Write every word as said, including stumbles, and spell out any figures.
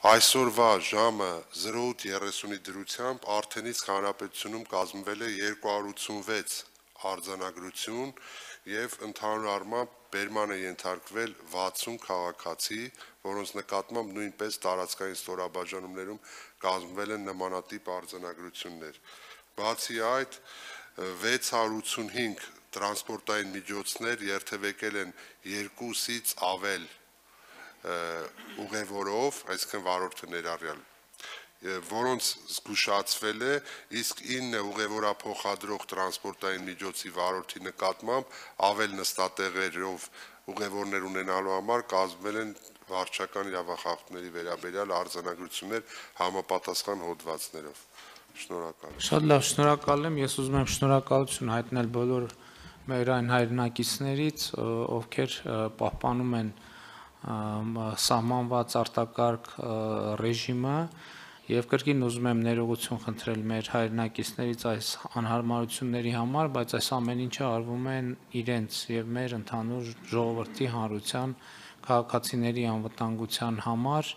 Այսօրվա ժամը zero eight thirty-ի դրությամբ արդեն իսկ հանրապետությունում կազմվել է երկու հարյուր ութսունվեց արձանագրություն եւ ընդհանուր առմամբ բերման է ենթարկվել վաթսուն քաղաքացի, որոնց նկատմամբ նույնպես տարածքային ստորաբաժանումներում կազմվել են նմանատիպ արձանագրություններ։ Բացի այդ, վեց հարյուր ութսունհինգ տրանսպորտային միջոցներ երթևեկել են երկուսից ավել ուղևորով, այսինքն վարորդը ներառյալ, որոնց զգուշացվել է, իսկ ինը ուղևորափոխադրող տրանսպորտային միջոցի վարորդի նկատմամբ ավել նստատեղերով ուղևորներ ունենալու համար կազմվել են վարչական իրավախախտումների վերաբերյալ արձանագրություններ համապատասխան հոդվածներով։ Շնորհակալ եմ։ Շատ լավ, շնորհակալ եմ, ես ուզում եմ շնորհակալություն հայտնել բոլոր մեր այն հայրենակիցներից, ովքեր պահպանում են սահմանված արտակարգ ռեժիմը եւ կրկին ուզում եմ ներողություն խնդրել մեր հայրենակիցներից այս անհարմարությունների համար, բայց այս ամեն ինչը արվում է իրենց եւ մեր ընդհանուր ժողովրդի հանրության քաղաքացիների անվտանգության համար